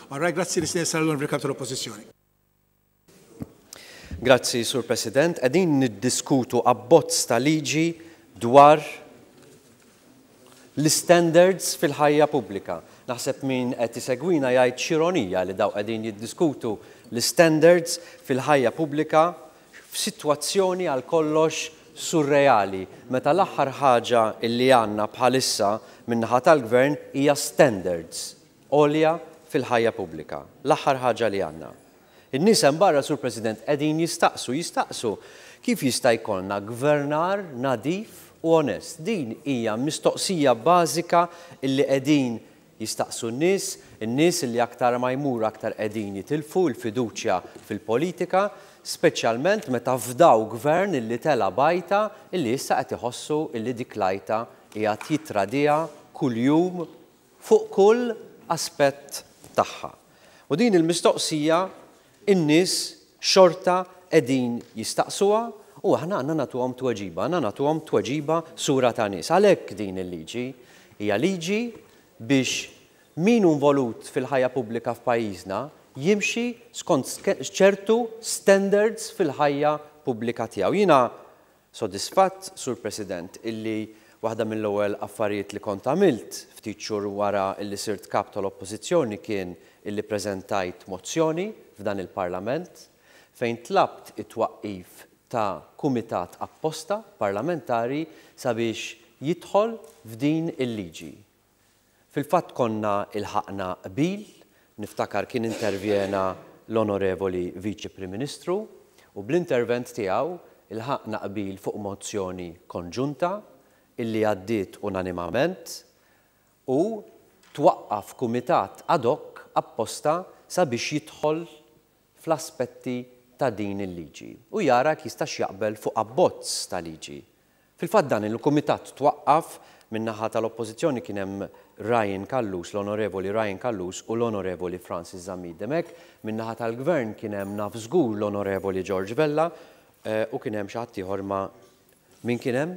All right, grazzi li sena l-Onorevoli Kap tal-Oppożizzjoni. Grazzi, Sur President. Qegħdin niddiskutu abbozz ta' liġi dwar l-istandards fil-ħajja pubblika. Naħseb min qed isegwina jgħid x'ironija li dawn qegħdin jiddiskutu l-istandards fil-ħajja pubblika f'sitwazzjoni għal kollox surreali meta l-aħħar ħaġa illi għandna bħalissa min-naħa tal-Gvern hija standards għolja fil-ħajja pubblika. L-aħħar ħaġa li għandna. In-nies hemm barra, Sur President, qegħdin jistaqsu, jistaqsu kif jista' jkollna gvernar nadif u onest. Din hija mistoqsija bażika illi qegħdin jistaqsu n-nies, in-nies illi aktar ma jmur aktar qegħdin jitilfu l-fiduċja fil-politika, speċjalment meta fdaw gvern illi tela' b'għajta illi issa qed iħossu illi dik l-għajta qiegħed jittradiha kuljum fuq kull aspett tagħha. U din il-mistoqsija in-nies xorta qegħdin jistaqsuha u aħna għandna nagħtuhom tweġiba, għandna nagħtuhom tweġiba sura ta' nies. Għalhekk din il-liġi hija liġi biex min hu involut fil-ħajja pubblika f'pajjiżna jimxi skont ċertu standards fil-ħajja pubblika tiegħu. Jiena Sodisfatt, Sur President, illi waħda mill-ewwel affarijiet li kont għamilt ftit xhur wara illi sirt Kap tal-Oppożizzjoni kien illi ppreżentajt mozzjoni f'dan il-Parlament fejn tlabt it-twaqqif ta' kumitat apposta parlamentari sabiex jidħol f'din il-liġi. Fil-fatt konna ilħaqna qbil, niftakar kien intervjena l-Onorevoli Viċi Prim Ministru u bl-intervent tiegħu ilħaqna qbil fuq mozzjoni konġunta illi għaddiet unanimament u twaqqaf kumitat ad hoc apposta sabiex jidħol fl-aspetti ta' din il-liġi u jara jekk jistax jaqbel fuq abbozz ta' liġi. Fil-fatt dan il-kumitat twaqqaf, min-naħa tal-Oppożizzjoni kien hemm Ryan Callus, l-Onorevoli Ryan Callus u l-Onorevoli Francis Zammit Dimech, min-naħa tal-Gvern kien hemm naf żgur l-Onorevoli George Vella u kien hemm xi ħadd ieħor ma Min kien hemm?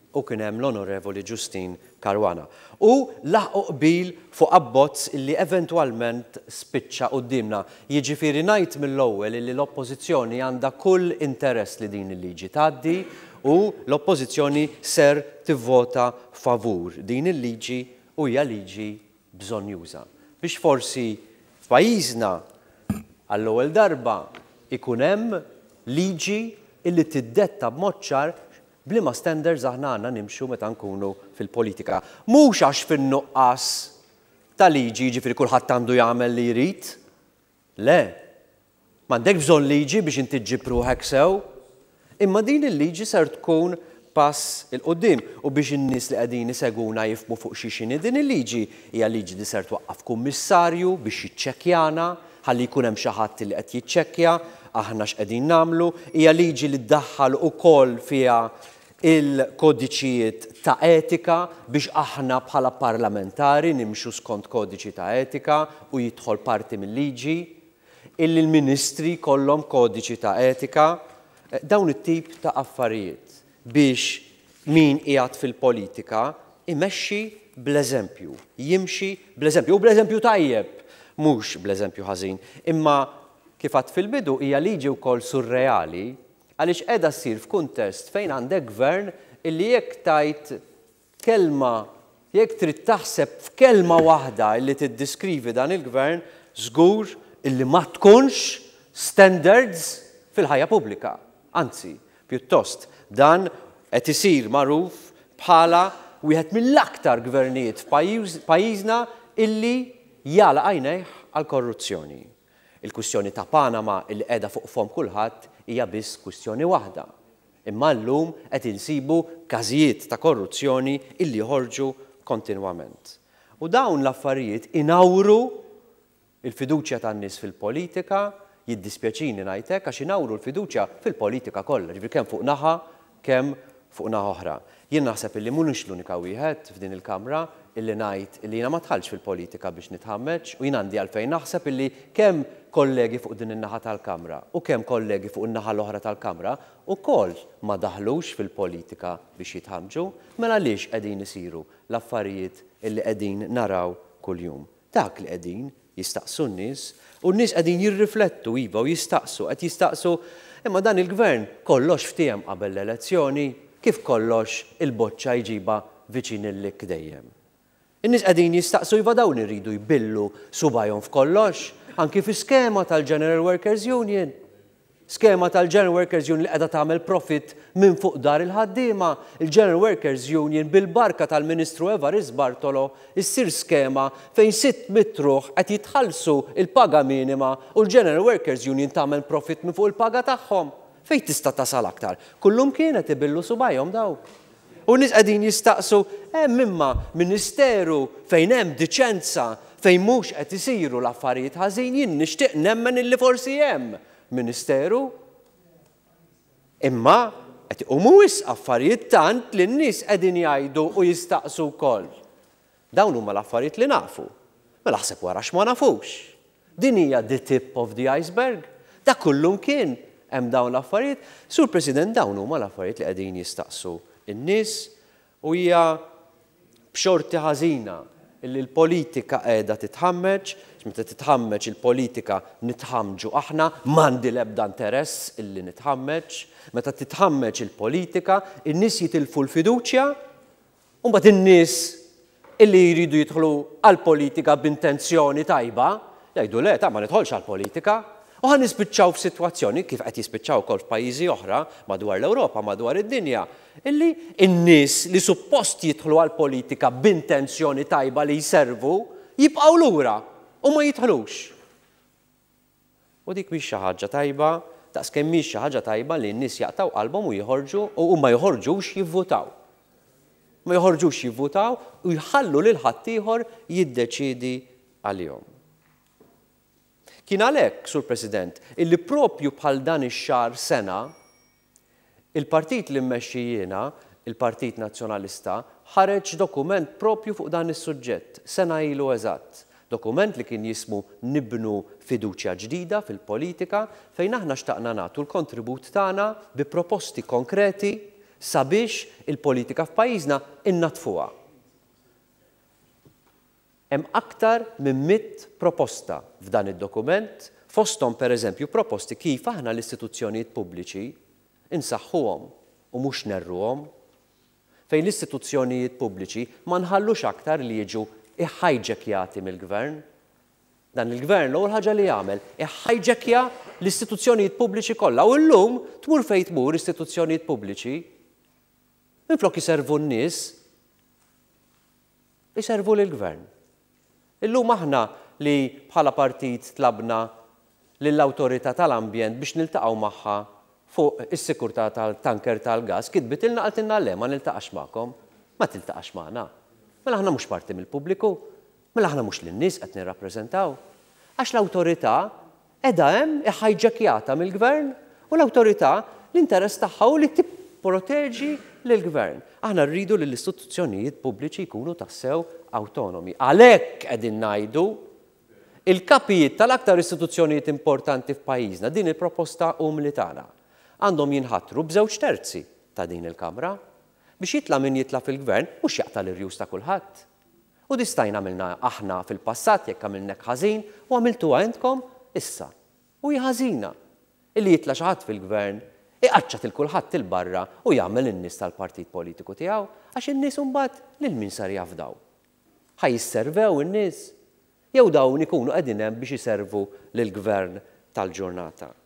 U kien hemm l-Onorevoli Justyne Caruana. U laħqu qbil fuq abbozz illi eventwalment spiċċa quddiemna. Jiġifieri ngħid mill-ewwel illi l-Oppożizzjoni għandha kull interess li din il-liġi tgħaddi u l-Oppożizzjoni ser tivvota favur din il-liġi u hija liġi bżonnjuża biex forsi f'pajjiżna għall-ewwel darba jkun hemm liġi illi tiddetta b'mod ċar b'liema standards aħna għandna nimxu meta nkunu fil-politika. Mhux għax fin-nuqqas ta' liġi jiġifieri kulħadd għandu jagħmel li jrid. Le. M'għandekx bżonn liġi biex inti ġġib ruħek sew. Imma din il-liġi ser tkun pass 'il quddiem u biex in-nies li qegħdin isegwuna jifhmu fuq xiex inhi din il-liġi, hija liġi li ser twaqqaf kummissarju biex jiċċekkjana, ħalli jkun hemm xi ħadd li qed jiċċekkja aħna x'qegħdin nagħmlu, hija liġi li ddaħħal ukoll fiha il-kodiċijiet ta' etika biex aħna bħala parlamentari nimxu skont kodiċi ta' etika u jidħol parti mil-liġi. Illi l-ministri jkollhom kodiċi ta' etika, dawn it-tip ta' affarijiet biex min qiegħed fil-politika jmexxi bl-eżempju, jimxi bl-eżempju, u bl-eżempju tajjeb, mhux bl-eżempju ħażin. Imma kif għedt fil-bidu hija liġi wkoll surreali għaliex qiegħda ssir f'kuntest fejn għandek gvern illi jekk tgħid Kelma, jekk trid taħseb f'kelma waħda illi tiddiskrivi dan il-Gvern, żgur illi ma tkunx standards fil-ħajja pubblika. Anzi, pjuttost, dan qed isir magħruf bħala wieħed mill-aktar gvernijiet f'pajjiżna illi jagħlaq għajnejh għall-korruzzjoni. Il-kwistjoni ta' Panama illi qiegħda fuq fomm kulħadd hija biss kwistjoni waħda. Imma llum qed insibu każijiet ta' korruzzjoni illi joħorġu kontinwament. U dawn l-affarijiet inawru l-fiduċja tan-nies fil-politika, jiddispjaċini ngħid hekk għax inawru l-fiduċja fil-politika kollha, jiġifieri kemm fuq naħa kemm fuq naħa oħra. Jien naħseb illi mhunix l-unika wieħed f'din il-Kamra illi ngħid illi jiena ma dħaltx fil-politika biex nitħammeġ u jien għandi għalfejn naħseb illi kemm kollegi fuq din in-naħa tal-Kamra u kemm kollegi fuq in-naħa l-oħra tal-Kamra wkoll ma daħlux fil-politika biex jitħammġu. Mela għaliex qegħdin isiru l-affarijiet illi qegħdin naraw kuljum? Dak li qegħdin. Jistaqsu n-nies, u n-nies qegħdin jirriflettu, iva, u jistaqsu, qed jistaqsu, imma dan il-Gvern kollox ftiehem qabel l-elezzjoni, kif kollox il-boċċa jġibha viċin il-likk dejjem? In-nies qegħdin jistaqsu iva dawn iridu jbillu subgħajhom f'kollox, anki fi skema tal-General Workers Union. Skema tal-General Workers Union li qiegħda tagħmel profitt minn fuq dar il-ħaddiema. Il-General Workers Union bil-barka tal-Ministru Evarist Bartolo issir skema fejn 600 ruħ qed jitħallsu l-paga minima u l-General Workers Union tagħmel profitt minn fuq il-paga tagħhom. Fejn tista' tasal aktar? Kullumkien qed ibillu subgħajhom dawk. U n-nies qegħdin jistaqsu, hemm imma ministeru fejn hemm diċenza, fejn mhux qed isiru l-affarijiet ħażin, jien nixtieq nemmen illi forsi hemm ministeru. Imma qed iqumu wisq affarijiet tant li n-nies qegħdin jgħidu u jistaqsu wkoll. Dawn huma l-affarijiet li nafu. Mela aħseb wara x'ma nafux. Din hija the tip of the iceberg. Dak kullumkien hemm dawn l-affarijiet. Sur President, dawn huma l-affarijiet li qegħdin jistaqsu n-nies u hija b'xorti ħażina li l-politika qiegħda titħammeġ, għax meta titħammeġ il-politika nitħammġu aħna, m'għandi l-ebda interess illi nitħammeġ. Meta titħammeġ il-politika, in-nies jitilfu l-fiduċja U mbagħad in-nies illi jridu jidħlu għall-politika b'intenzjoni tajba, jgħidu le, ta' ma nidħolx għall-politika. U ħa nispiċċaw f'sitwazzjoni, kif qed jispiċċaw ukoll f'pajjiżi oħra madwar l-Ewropa, madwar id-dinja, illi n-nies li suppost jidħlu għall-politika b'intenzjoni tajba li jservu, jibqgħu lura u ma jidħlux. U dik mhix xi ħaġa tajba, daqs kemm mhix xi ħaġa tajba li n-nies jaqtgħu qalbhom u jħorġu u ma joħorġux jivvutaw. Ma joħorġux jivvutaw u jħallu lil ħaddieħor jiddeċiedi għalihom. Kien għalhekk, Sur President, illi propju bħal dan ix-xahar sena, Il-partit li mmexxi jiena, il-Partit Nazzjonalista, ħareġ dokument proprju fuq dan is-suġġett, sena ilu eżatt. Dokument li kien jismu Nibnu Fiduċja Ġdida fil-Politika fejn aħna xtaqna nagħtu l-kontribut tagħna bi proposti konkreti sabiex il-politika f'pajjiżna innaddfuha. Hemm aktar minn mitt proposta f'dan id-dokument, fosthom pereżempju proposti kif aħna l-istituzzjonijiet pubbliċi nsaħħuhom u mhux nerruhom, fejn l-istituzzjonijiet pubbliċi ma nħallux aktar li jiġu iħajġekjati mill-Gvern. Dan il-Gvern l-ewwel ħaġa li jagħmel iħajġekja l-istituzzjonijiet pubbliċi kollha u llum tmur fejn tmur istituzzjonijiet pubbliċi minflok iservu n-nies iservu lill-Gvern. Illum aħna li bħala partit tlabna lill-Awtorità tal-Ambjent biex niltaqgħu magħha fuq is-sikurtà tal-tanker tal-gass, kitbitilna qaltilna le ma niltaqax magħkom. Ma tiltaqax magħna. Mela aħna mhux parti mill-pubbliku? Mela aħna mhux lin-nies qed nirrappreżentaw? Għax l-Awtorità Qiegħda hemm, iħajġekjata mill-Gvern, u l-awtorità l-interess tagħha hu li tipproteġi lill-Gvern. Aħna rridu li l-istituzzjonijiet pubbliċi jkunu tassew awtonomi. Għalhekk qegħdin ngħidu il-kapijiet tal-aktar istituzzjonijiet importanti f'pajjiżna, din il-proposta umli tagħna, għandhom jinħatru b'żewġ terzi ta' din il-Kamra biex jitla' min jitla' fil-Gvern mhux jaqta' l-irjus ta' kulħadd. U di stajna għamilna aħna fil-passat jekk għamilna hekk ħażin u għamiltuha intkom issa. U hi ħażina illi jitla' xi ħadd fil-gvern, iqaċċat 'il kulħadd 'il barra u jagħmel in-nies tal-partit politiku tiegħu għax in-nies imbagħad lil min ser jafdaw? Ħa jisservew in-nies? Jew dawn ikunu qegħdin hemm biex iservu lill-gvern tal-ġurnata?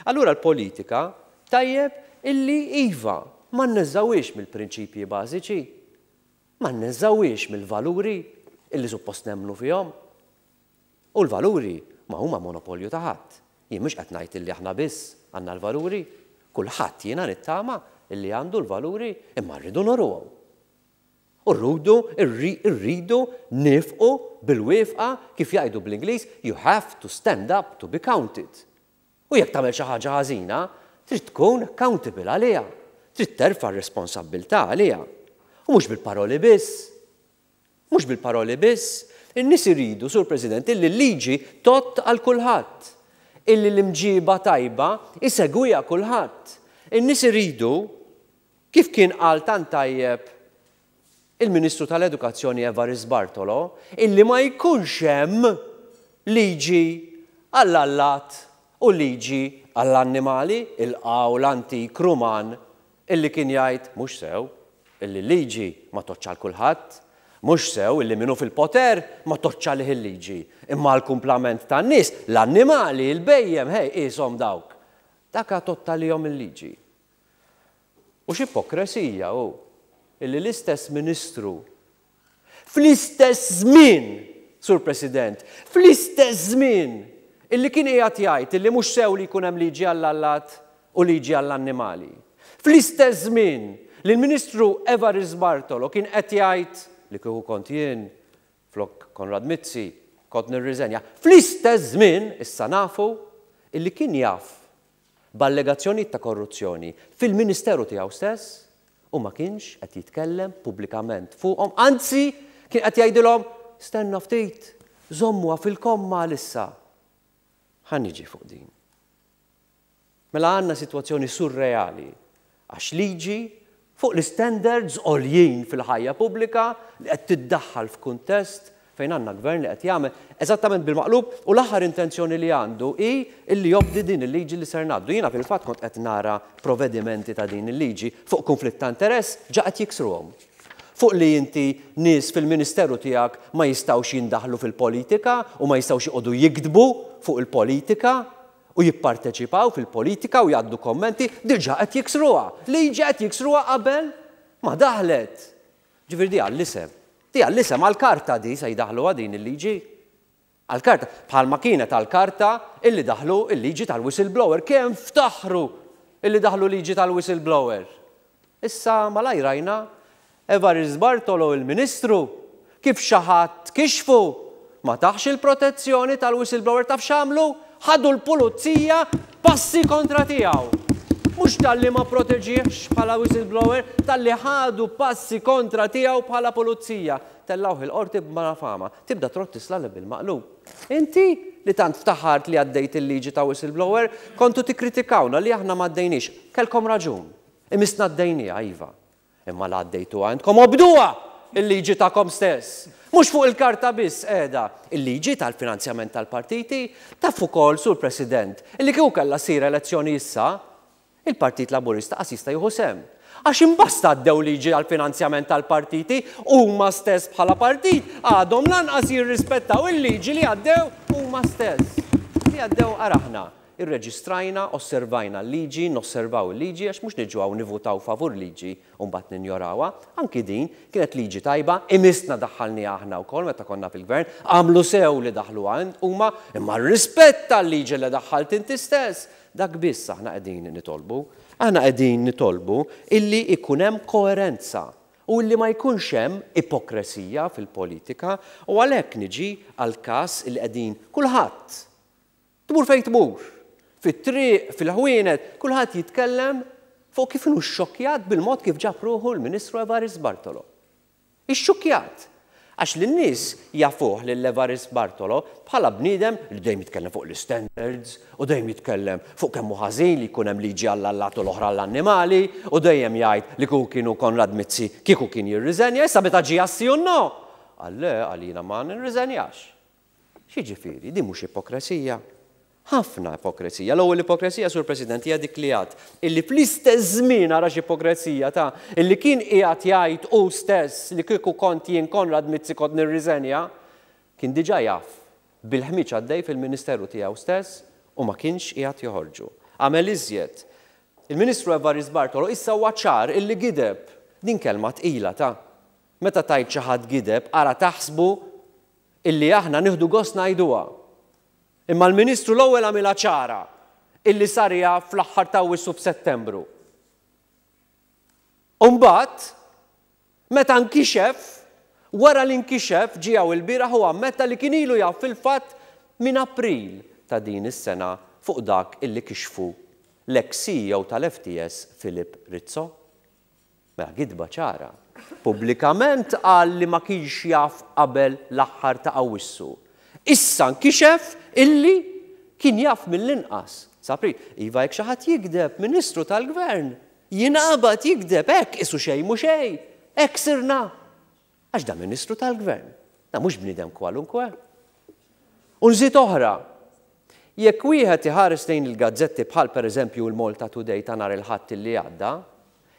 Allura l-politika tajjeb illi iva, ma nneżżgħuhiex mill-prinċipji bażiċi. Ma nneżżgħuhiex mill-valuri illi suppost nemmnu fihom. U l-valuri ma huma monopolju ta' ħadd. Jien mhux qed ngħid illi aħna biss għandna l-valuri. Kulħadd jiena nittama illi għandu l-valuri imma rridu nuruhom. U rrudu rridu niefqu bil-wifqa kif jgħidu bl-Ingliż you have to stand up to be counted. U jekk tagħmel xi ħaġa ħażina, trid tkun accountable għaliha. Trid terfa' r-responsabbiltà għaliha. U mhux bil-paroli biss. Mhux bil-paroli biss. In-nies iridu, Sur President, illi l-liġi tgħodd għal kulħadd. Illi l-imġiba tajba jsegwiha kulħadd. In-nies iridu, kif kien qal tant tajjeb il-Ministru tal-Edukazzjoni Evarist Bartolo, illi ma jkunx hemm Liġi għall-allat u liġi għall-annimali, il-qawl antik Ruman illi kien jgħid mhux sew illi l-liġi ma tgħoddx għal kulħadd, mhux sew illi min hu fil-poter ma tgħoddx għalih il-liġi, imma għall-kumplament tan-nies, l-annimali, il-bhejjem, ħej, qieshom dawk. Dak tgħodd għalihom il-liġi. U x'ipokresija hu illi l-istess Ministru fl-istess żmien, Sur President, fl-istess żmien illi kien qiegħed jgħid illi mhux sew li jkun hemm liġi għall-allat u liġi għall-annimali, fl-istess żmien li l-Ministru Evarist Bartolo kien qed jgħid li kieku kont jien flok Konrad Mizzi kont nirriżenja, fl-istess żmien issa nafu illi kien jaf b'allegazzjonijiet ta' korruzzjoni fil-Ministeru tiegħu stess u ma kienx qed jitkellem pubblikament fuqhom, anzi kien qed jgħidilhom stenna ftit, żommuha fil-komma għalissa. Ħa niġi fuq din. Mela għandna sitwazzjoni surreali għax liġi fuq l-istandards għoljin fil-ħajja pubblika li qed tiddaħħal f'kuntest fejn għandna gvern li qed jagħmel eżattament bil-maqlub u l-aħħar intenzjoni li għandu hi li jobdi din il-liġi li ser ngħaddu. Jiena fil-fatt kont qed nara provedimenti ta' din il-liġi fuq kunflitt ta' interess ġa qed jiksruhom. Fuq li inti nies fil-ministeru tiegħek ma jistgħux jindaħlu fil-politika u ma jistgħux joqogħdu jiktbu fuq il-politika u jipparteċipaw fil-politika u jgħaddu kommenti, diġà qed jiksruha. Liġi qed jiksruha qabel ma daħlet. Ġifieri di għall-isem. Di għall-isem, għall-karta di se jdaħħluha din il-liġi. Għall-karta, bħalma kienet għall-karta illi daħlu l-liġi tal-whistleblower. Kemm ftaħru illi daħlu liġi tal-whistleblower. Issa malajr rajna Evarist Bartolo il-Ministru kif xi ħadd kixfu ma tahx il-protezzjoni tal-whistleblower taf x'għamlu? Ħadu l-pulizija passi kontra tiegħu. Mhux talli ma proteġihx bħala whistleblower, talli ħadu passi kontra tiegħu bħala pulizija. Tellgħuh il-qorti b'malafama. Tibda trott tislaleb bil-maqlub. Inti, li tant ftaħart li għaddejt il-liġi ta' whistleblower, kontu tikkritikawna li aħna m'għaddejniex. Kellkom raġun. Imissna għaddejnieha, iva. Imma la għaddejtuha intkom obduha il-liġi tagħkom stess. Mhux fuq il-karta biss qiegħda il-liġi tal-finanzjament tal-partiti. Taf ukoll, Sur President, illi kieku kellha ssir elezzjoni issa, il-Partit Laburista qas jista' jieħu sehem. Għax imbasta għaddew liġi għall-finanzjament tal-partiti, huma stess bħala partit għadhom lanqas jirrispettaw il-liġi li għaddew huma stess. Li għaddew ara aħna. Irreġistrajna, osservajna l-liġi, nosservaw il-liġi għax mhux niġu hawn nivvutaw favur liġi u mbagħad ninjorawha. Anki din kienet liġi tajba, imissna daħħalniha aħna wkoll meta konna fil-Gvern, għamlu sew li daħħluha huma, imma rrispetta l-liġi li daħħalt inti stess. Dak biss aħna qegħdin nitolbu. Aħna qegħdin nitolbu illi jkun hemm koerenza u illi ma jkunx hemm ipokresija fil-politika u għalhekk niġi għall-każ illi qegħdin kulħadd Tmur fejn tmur, fit-triq, fil-ħwienet, kulħadd jitkellem fuq kif inhu xxokkjat bil-mod kif ġab ruħu l-Ministru Evarist Bartolo. Ixxukkjat! Għax lin-nies jafuh lil Evarist Bartolo bħala bniedem li dejjem jitkellem fuq l-istandards u dejjem jitkellem fuq kemm hu ħażin li jkun hemm liġi għall-allat u l-oħra għall-annimali u dejjem jgħid li kieku kien hu Konrad Mizzi kieku kien jirriżenja. Issa meta ġie għas-sì u n-no, qal le, qal jiena ma nirriżenjax. X'jiġifieri? Din mhux ipokresija? Ħafna ipokresija. L-ewwel ipokresija, Sur President, hija dik li għad illi fl-istess żmien ara x'ipokresija ta' illi kien qiegħed jgħid hu stess li kieku kont jien Konrad Mizzi kont nirriżenja, kien diġà jaf bil-ħmieġ għaddej fil-Ministeru tiegħu stess u ma kienx qiegħed joħorġu. Għamel iżjed. Il-Ministru Evarist Bartolo issa huwa ċar illi gideb. Din kelma tqila ta'. Meta tgħid xi ħadd gideb ara taħsbu illi aħna nieħdu gost ngħiduha. Imma l-Ministru l-ewwel għamilha ċara illi sar jaf fl-aħħar t'Awwissu f'Settembru. U mbagħad, meta nkixef, wara li nkixef, ġie hawn ilbieraħ u ammetta li kien ilu jaf fil-fatt minn April ta' din is-sena fuq dak illi kixfu l-eks CEO tal-FTS Philip Rizzo. Mela gidba ċara. Pubblikament qal li ma kienx jaf qabel l-aħħar ta' Awwissu. Issa nkixef illi kien jaf mill-inqas sa April. Iva jekk xi ħadd jigdeb, Ministru tal-Gvern, jinqabad jigdeb hekk qisu xejn mhu xejn. Hekk sirna. Għax da Ministru tal-Gvern. Da mhux bniedem kwalunkwe. U nżid oħra, jekk wieħed iħares lejn il-gazzetti bħal pereżempju l-Malta Today ta' nhar il-Ħadd illi għadda,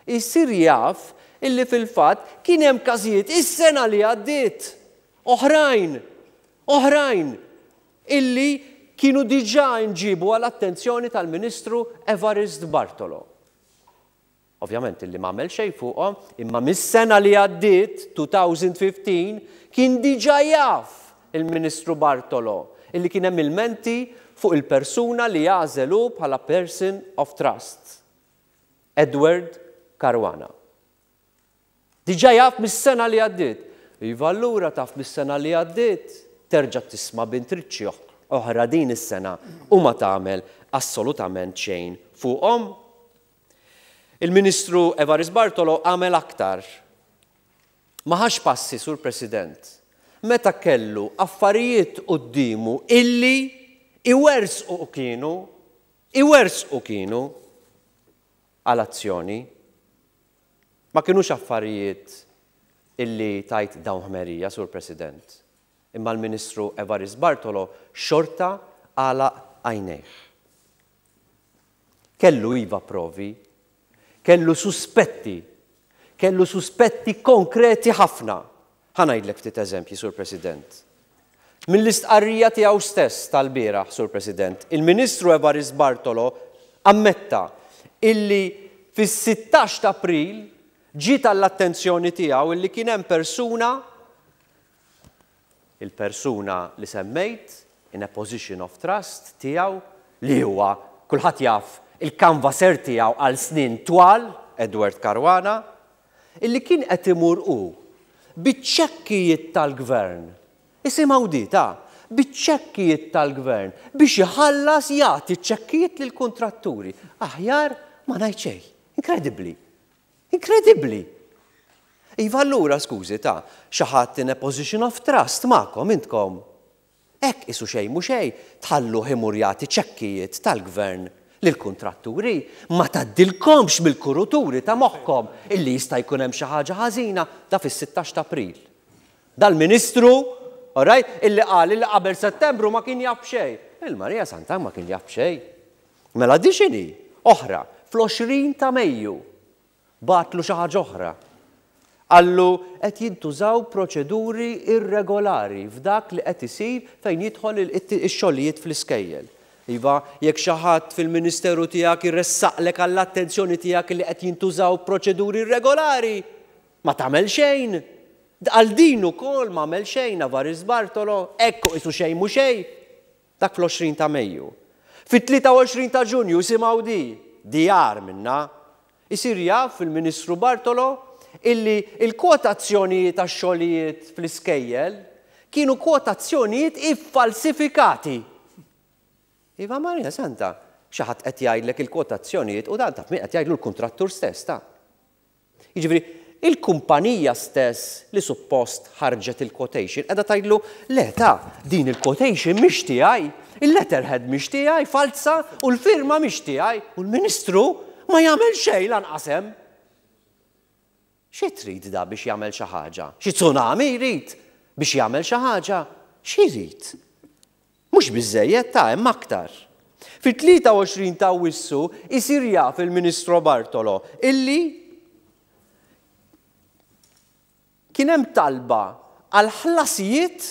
jsir jaf illi fil-fatt kien hemm każijiet is-sena li għaddiet oħrajn, oħrajn illi kienu diġà nġiebu għall-attenzjoni tal-Ministru Evarist Bartolo. Ovvjament illi m'għamel xejn fuqhom, imma mis-sena li għaddiet, 2015, kien diġà jaf il-Ministru Bartolo illi kien hemm ilmenti fuq il-persuna li għażel hu bħala person of trust, Edward Caruana. Diġà jaf mis-sena li għaddiet. Iva allura taf mis-sena li għaddiet, terġa' tisma' b'intriċċi oħra din is-sena u ma tagħmel assolutament xejn fuqhom. Il-Ministru Evarist Bartolo għamel aktar. Ma ħax passi, Sur President, meta kellu affarijiet quddiemu illi iwerżqu kienu, iwerżqu kienu għal azzjoni. Ma kinux affarijiet illi tgħid dawn ħmerija, Sur President, imma l-Ministru Evarist Bartolo xorta għalaq għajnejh. Kellu iva provi, kellu suspetti, kellu suspetti konkreti ħafna. Ħa ngħidlek ftit eżempji, Sur President. Mill-istqarrija tiegħu stess tal-bieraħ, Sur President, il-Ministru Evarist Bartolo ammetta illi fis-16 t'April ġiet għall-attenzjoni tiegħu illi kien hemm persuna, il-persuna li semmejt, in a position of trust tiegħu, li huwa, kulħadd jaf, il-canvasser tiegħu għal snin twal, Edward Caruana, illi kien qed imur hu biċ-ċekkijiet tal-Gvern, isimgħu di ta', biċ-ċekkijiet tal-Gvern biex iħallas jagħti ċ-ċekkijiet lill-kuntratturi. Aħjar ma ngħid xejn. Inkredibbli. Inkredibbli! Iva allura, skużi ta', xi ħadd in a position of trust magħkom intkom. Hekk qisu xejn mhu xejn tħalluh imur jagħti ċekkijiet tal-Gvern lill-kuntratturi. Ma tgħaddilkomx mill-kuruturi ta' moħħkom illi jista' jkun hemm xi ħaġa ħażina da fis-sittax t'April. Dal-Ministru, all right, illi qal illi qabel Settembru ma kien jaf b'xejn. Il-Marija Santa ma kien jaf b'xejn. Mela di x'inhi? Oħra, fl-20 ta' Mejju bagħatlu xi ħaġa oħra. Qallu qed jintużaw proċeduri irregolari f'dak li qed isir fejn jidħol ix-xogħlijiet fl-iskejjel. Iva, jekk xi ħadd fil-ministeru tiegħek iressaqlek għall-attenzjoni tiegħek li qed jintużaw proċeduri irregolari, ma tagħmel xejn. Għal din ukoll m'għamel xejn Avaris Bartolo, hekk u qisu xejn mhu xejn. Dak fl-20 ta' Mejju. Fit-23 ta' Ġunju, isimgħu di, di agħar minnha, isir jaf il-Ministru Bartolo illi l-kwotazzjonijiet għax-xogħlijiet fl-iskejjel kienu kwotazzjonijiet iffalsifikati. Iva Marija Santa, xi ħadd qed jgħidlek il-kwotazzjonijiet u dan taf min qed jgħidlu l-kuntrattur stess ta'. Jiġifieri, il-kumpanija stess li suppost ħarġet il-quotation qiegħda tgħidlu, le ta, din il-quotation mhix tiegħi, il-letterhead mhix tiegħi, falza, u l-firma mhix tiegħi, u l-Ministru ma jagħmel xejn lanqas hemm. Xi trid da biex jagħmel xi ħaġa? Xi tsunami jrid biex jagħmel xi ħaġa? Xi jrid? Mhux biżżejjed ta' hemm aktar. Fit-23 ta' Awwissu jsir jaf il-Ministro Bartolo illi kien hemm talba għal ħlasijiet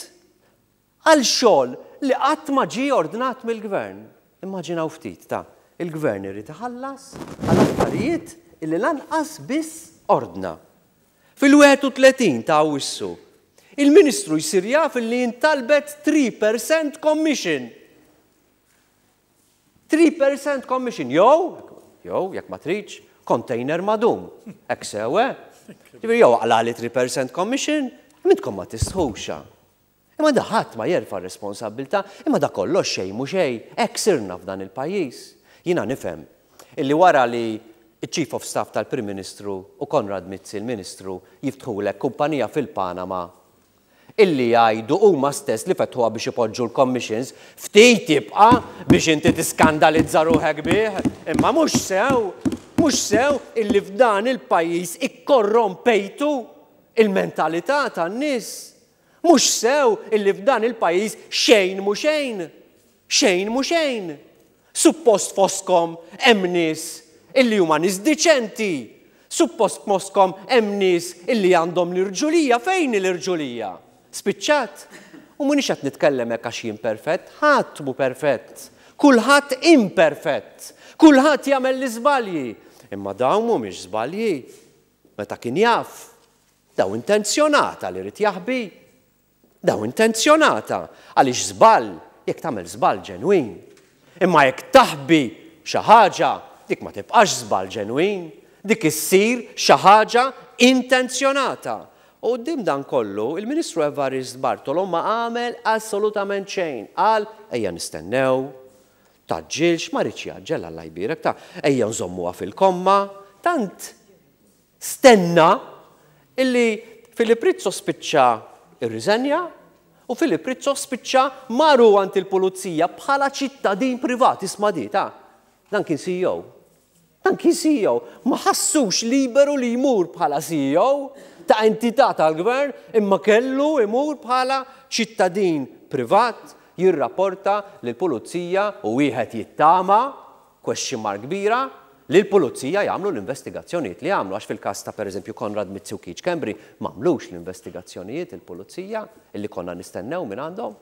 għal xogħol li qatt ma ġie ordnat mill-Gvern. Immaġinaw ftit ta' il-Gvern irid iħallas għal affarijiet illi lanqas biss ordna. Fil-31 ta' Awwissu, il-Ministru jsir jaf li intalbet 3% commission. 3% commission, jew, jew, jekk ma tridx, container madum. Hekk sew, eh? Ġifieri jew aqlagħli 3% commission, intkom ma tistħux. Imma da ħadd ma jerfa' r-responsabbiltà, imma da kollox xejn mhu xejn, hekk sirna f'dan il-pajjiż. Jiena nifhem illi wara li ċ-Chief of Staff tal-Prim Ministru u Konrad Mizzi l-Ministru jiftħulek kumpanija fil-Panama illi jgħidu huma stess li fetħuha biex ipoġġu l-commissions, ftit jibqa' biex inti tiskandalizza ruħek bih, imma mhux sew, mhux sew illi f'dan il-pajjiż ikkorrompejtu il-mentalità tan-nies. Mhux sew illi f'dan il-pajjiż xejn mhu xejn. Xejn mhu xejn. Suppost fostkom hemm nies illi huma nies diċenti. Suppost fostkom hemm nies illi għandhom l-irġulija. Fejn hi l-irġulija? Spiċċat? U m'iniex qed nitkellem hekk għax jien perfett, ħadd mhu perfett. Kulħadd imperfett. Kulħadd jagħmel l-iżbalji. Imma dawn mhumiex żbalji. Meta kien jaf, daw intenzjonata li ried jaħbi. Daw intenzjonata għaliex żball, jekk tagħmel żball ġenwin. Imma jekk taħbi xi ħaġa, dik ma tibqax żball ġenwin, dik issir xi ħaġa intenzjonata. U quddiem dan kollu, il-Ministru Evarist Bartolo ma għamel assolutament xejn. Qal, ejja nistennew, tgħaġġilx, ma riedx jgħaġġel Alla jbierek ta' ejja nżommuha fil-komma. Tant stenna illi Philip Rizzo spiċċa rriżenja u Philip Rizzo spiċċa mar hu għand il-pulizija bħala ċittadin privat, isma' di ta' dan kien CEO. Dan kien CEO. Ma ħassux liberu li jmur bħala CEO ta' entità tal-gvern imma kellu jmur bħala ċittadin privat jirrapporta lill-pulizija u wieħed jittama, question mark kbira, li l-pulizija jagħmlu l-investigazzjonijiet li jagħmlu għax fil-każ ta' pereżempju Konrad Mizzi u Keith Schembri m'għamlux l-investigazzjonijiet il-pulizija illi konna nistennew minn għandhom.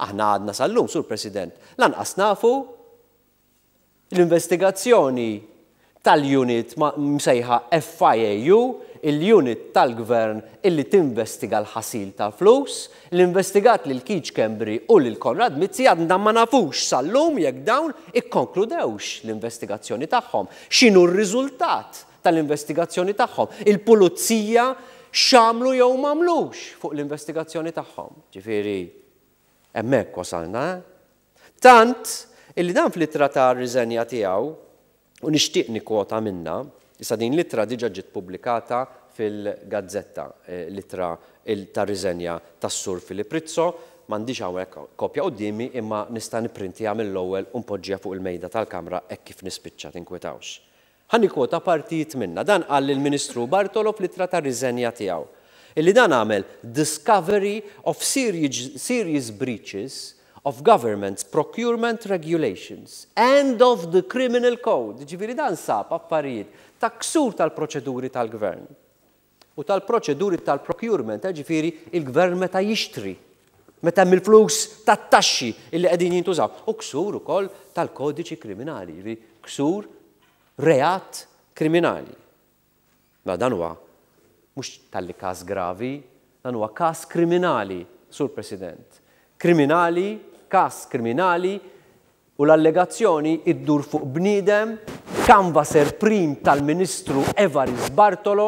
Aħna għadna sal-lum, Sur President, lanqas nafu l-investigazzjoni tal-unit msejħa FIAU, il-unit tal-gvern illi tinvestiga l-ħasil tal-flus, li investigat lil Keith Schembri u lil Konrad Mizzi għadna ma nafux sal-lum jekk dawn ikkonkludewx l-investigazzjoni tagħhom. X'inhu r-riżultat tal-investigazzjoni tagħhom? Il-pulizija x'għamlu jew m'għamlux fuq l-investigazzjoni tagħhom. Ġifieri, hemmhekk wasalna, eh? Tant illi dan fl-ittra ta' riżenja tiegħu, u nixtieq nikkwota minnha, issa din l-ittra diġà ġiet pubblikata fil-gazzetta, l-ittra ta' riżenja tas-Sur Philip Rizzo, m'għandix hawnhekk kopja quddiemi imma nista' nipprintija mill-ewwel u npoġġiha fuq il-mejda tal-Kamra hekk kif nispiċċa, tinkwetawx. Ħa nikkwota partijiet minnha. Dan qal lill-Ministru Bartolo fl-ittra ta' riżenja tiegħu. Illi dan għamel discovery of serious breaches of government's procurement regulations and of the criminal code. Ġifieri dan sab affarijiet ta' ksur tal-proċeduri tal-gvern u tal-proċeduri tal-procurement, ġifieri il-gvern meta jixtri, meta hemm il-flus tat-taxxi illi qegħdin jintużaw, u ksur ukoll tal-kodiċi kriminali, ġifieri ksur reat kriminali. Ma dan huwa mhux talli każ gravi, dan huwa każ kriminali, Sur President. Kriminali, każ kriminali u l-allegazzjoni iddur fuq bniedem canvasser prim tal-Ministru Evarist Bartolo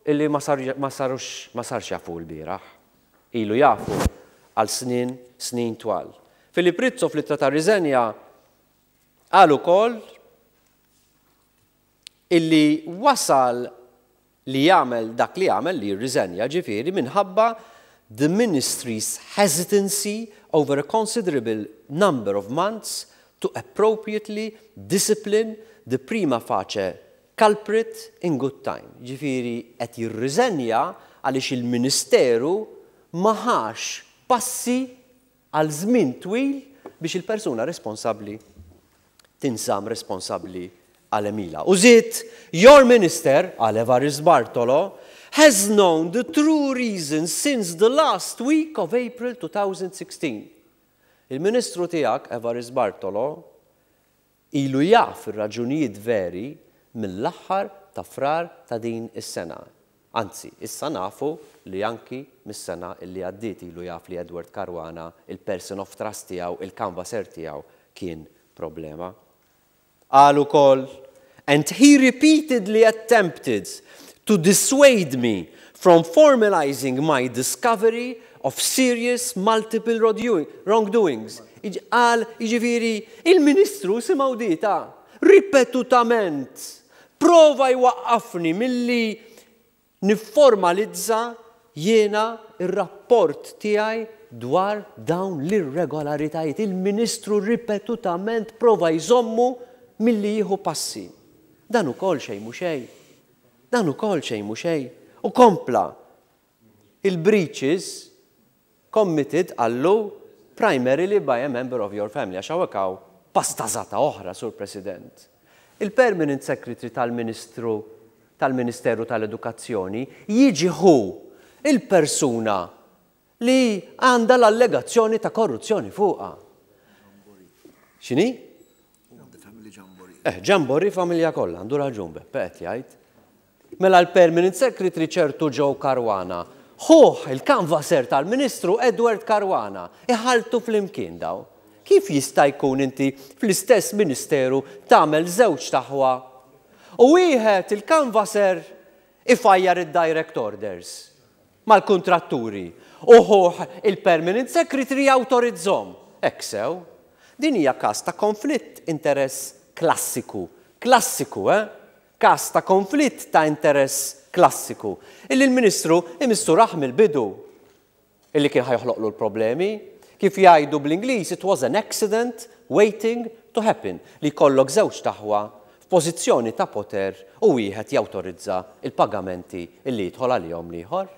illi ma sarux ma sarx jafu l-bieraħ. Ilu jafu għal snin, snin twal. Philip Rizzo fl-ittra ta' riżenja qal ukoll illi wasal li jagħmel dak li jagħmel li jirriżenja ġifieri minħabba the ministry's hesitancy over a considerable number of months to appropriately discipline the prima facie culprit in good time. Ġifieri qed jirriżenja għaliex il-Ministeru ma ħax passi għal żmien twil biex il-persuna responsabbli tinżamm responsabbli għal għemilha. U żied, your minister, għal Evarist Bartolo, has known the true reason since the last week of April 2016. Il-ministru tiegħek, Evarist Bartolo, ilu jaf ir-raġunijiet veri mill-aħħar ta' Frar ta' din is-sena. Anzi, issa nafu li anki mis-sena illi għaddiet ilu jaf li Edward Caruana, il-person of trust tiegħu, il-canvasser tiegħu, kien problema. Qal ukoll, and he repeatedly attempted to dissuade me from formalizing my discovery of serious multiple wrongdoings. Qal, jiġifieri, il-Ministru simgħu dita, ripetutament prova jwaqqafni milli nifformalizza jiena r-rapport tiegħi dwar dawn l-irregolaritajiet. Il-Ministru ripetutament prova jżommu milli jieħu passi. Dan ukoll xejn mhu xejn. Dan ukoll xejn mhu xejn. U kompla. Il-breaches committed qallu primarily by a member of your family għax hawnhekk hawn pastażata oħra, Sur President. Il-Permanent Secretary tal-Ministru tal-Ministeru tal-Edukazzjoni jiġi ħu il-persuna li għandha l-allegazzjoni ta' korruzzjoni fuqha. X'inhi? Eh, Jamboree familja kollha, għandu raġun Beppe qed jgħid. Mela l-Permanent Secretary ċertu Joe Caruana, ħuh il-canvasser tal-Ministru Edward Caruana, iħalltu flimkien daw. Kif jista' jkun inti fl-istess ministeru tagħmel żewġt aħwa u wieħed il-canvasser ifajjar id-direct orders mal-kuntratturi u ħuh il-Permanent Secretary jawtorizzhom? Hekk sew? Din hija każ ta' konflitt interess klassiku. Klassiku, eh? Każ ta' konflitt ta' interess klassiku, illi l-Ministru imissu rah mill-bidu illi kien ħa joħloqlu l-problemi. Kif jgħidu bl-Ingliż, it was an accident waiting to happen, li jkollok żewġt aħwa f'pożizzjoni ta' poter u wieħed jawtorizza l-pagamenti illi jidħol għalihom l-ieħor.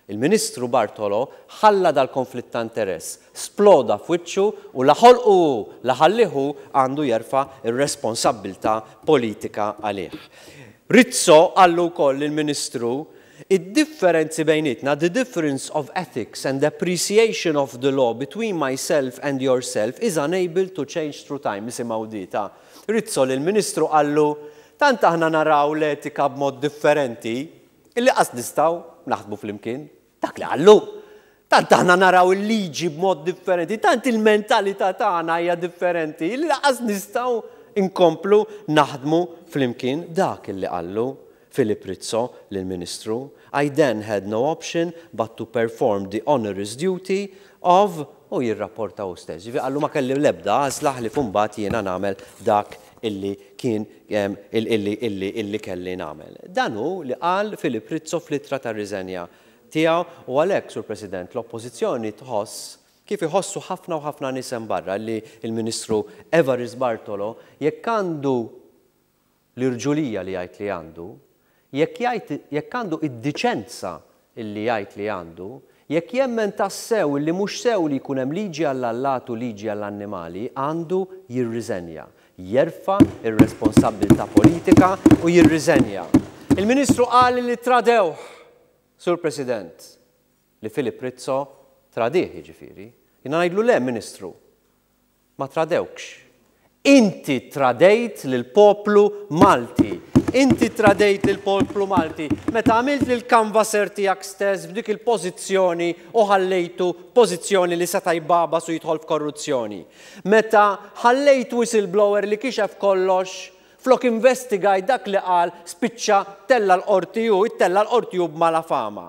Il-Ministru Bartolo ħalla dal-konflitt ta' interess sploda f'wiċċu u la ħolqu hu, la ħallih hu għandu jerfa' r-responsabbiltà politika għalih. Rizzo qallu wkoll lill-Ministru Id-differenzi bejnietna, the difference of ethics and appreciation of the law between myself and yourself is unable to change through time. Isimgħu di ta' Rizzo lill-Ministru qallu tant aħna naraw l-etika b'mod differenti Illi qas nistgħu naħdmu flimkien. Dak li qallu. Tant aħna naraw il-liġi b'mod differenti, tant il-mentalità tagħna hija differenti, illi lanqas nistgħu nkomplu naħdmu flimkien. Dak illi qallu Philip Rizzo lill-Ministru. I then had no option but to perform the onerous duty of u jirrapporta hu stess. Jiġifieri qallu ma kelli l-ebda għażla ħlief imbagħad jiena nagħmel dak illi kien illi illi illi kelli nagħmel. Dan hu li qal Philip Rizzo fl-ittra tar-riżenja tiegħu u għalhekk, Sur President, l-Oppożizzjoni tħoss, kif iħossu ħafna u ħafna nies hemm barra, li l-Ministru Evarist Bartolo jekk għandu l-irġulija li jgħid li għandu, jekk jgħid, jekk għandu id-diċenza illi jgħid li għandu, jekk jemmen tassew illi mhux sew li jkun hemm liġi għall-allat u liġi għall-annimali, għandu jirriżenja. Jerfa' r-responsabbiltà politika u jirriżenja. Il-Ministru qal illi tradewh, Sur President, li Philip Rizzo tradih jiġifieri. Jiena ngħidlu le, Ministru. Ma tradewkx. Inti ttradejt lill-poplu Malti. Inti ttradejt lill-poplu Malti meta għamilt lill-canvasser tiegħek stess f'dik il-pożizzjoni u ħallejtu f'pożizzjoni li seta' jbagħbas u jidħol f'korruzzjoni. Meta ħallejt whistleblower li kixef kollox Flok investigajt dak li qal spiċċa ttella' l-Qorti hu, ittella' l-Qorti hu b'malafama.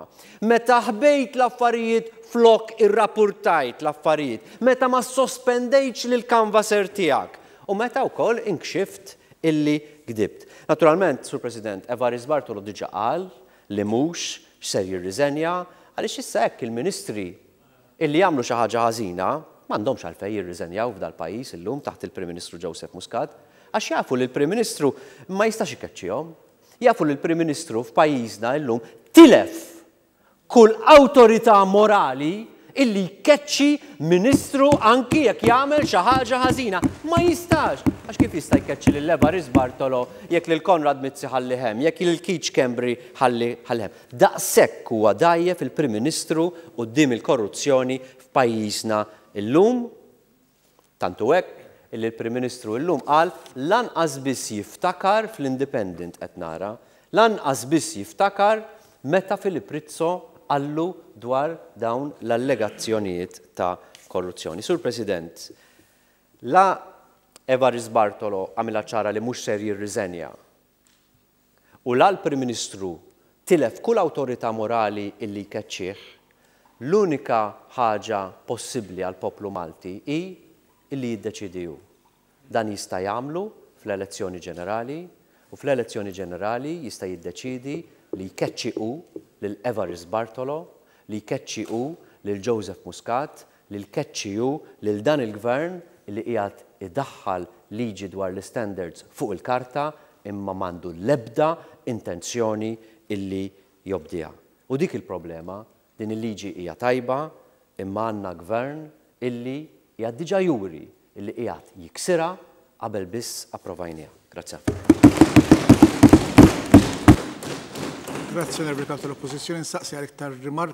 Meta ħbejt l-affarijiet flok irrapurtajt l-affarijiet. Meta ma ssospendejtx lill-canvasser tiegħek. U meta wkoll inkxift illi gdibt. Naturalment, Sur President, Evarist Bartolo diġa qal li mhux ser jirriżenja għaliex issa hekk il-Ministri Illi jagħmlu xi ħaġa ħażina m'għandhomx għalfejn jirriżenjaw f'dal-pajjiż illum taħt il-Prim Ministru Joseph Muscat għax jafu li l-Prim Ministru ma jistax ikeċċihom. Jafu li l-Prim Ministru f'pajjiżna illum tilef kull awtorità morali illi jkeċċi Ministru anki jekk jagħmel xi ħaġa ħażina. Ma jistax! Għax kif jista' jkeċċi lil Evarist Bartolo jekk lil Konrad Mizzi ħallih hemm, jekk lil Keith Schembri ħallih hemm? Daqshekk huwa dgħajjef il-Prim Ministru quddiem il-korruzzjoni f'pajjiżna llum. Tant hu hekk illi l-Prim Ministru illum qal lanqas biss jiftakar fl-Independent qed nara, lanqas biss jiftakar meta Philip Rizzo qallu dwar dawn l-allegazzjonijiet ta' korruzzjoni. Sur President, la Evarist Bartolo għamilha ċara li mhux ser jirriżenja, U la l-Prim Ministru tilef kull awtorità morali illi jkeċċih, l-unika ħaġa possibbli għall-poplu Malti hi illi jiddeċiedi hu. Dan jista' jagħmlu fl-elezzjoni ġenerali u fl-elezzjoni ġenerali jista' jiddeċiedi li jkeċċi hu lil Evarist Bartolo, li jkeċċi hu lil Joseph Muscat, li jkeċċi hu lil dan il-Gvern li qiegħed idaħħal liġi dwar l-istandards fuq il-karta imma m'għandu l-ebda intenzjoni illi jobdiha. U dik il-problema. Din il-liġi hija tajba imma għandna gvern illi qiegħed diġà juri illi qiegħed jiksirha qabel biss approvajniha. Grazzi ħafna. Grazzi Onorevoli Kap tal-Oppożizzjoni. Nsaqsi għal iktar rimarki.